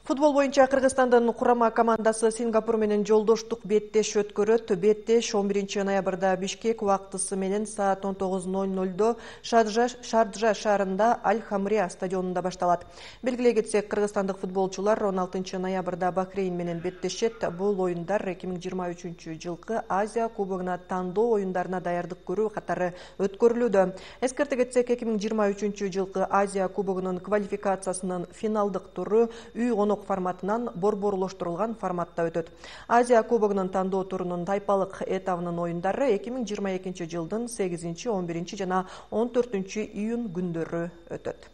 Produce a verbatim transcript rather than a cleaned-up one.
Футбол боюнча Кыргызстандын курама командасы Сингапур менен жолдоштук беттеш өткөрөт. Беттеш он биринчи ноябрда Бишкек убактысы менен саат он тогуз ноль нольдо Шарджа шаарында Аль-Хамрия стадионунда башталат. Белгилей кетсек, кыргызстандык футболчулар он алтынчы ноябрда Бахрейн менен беттешет. Бул оюндар эки миң жыйырма үчүнчү жылкы Азия кубогуна тандоо оюндарына даярдык көрүү катары өткөрүлүүдө. Эскерте кетсек, эки миң жыйырма үчүнчү жылкы Азия кубогунун квалификациясынын финалдык туру үй конок форматынан борборлоштурулган форматта өтөт. Азия кубогунун тандоо турунун тайпалык этабынын оюндары эки миң жыйырма экинчи жылдын сегизинчи, он биринчи жана он төртүнчү июнь күндөрү өтөт.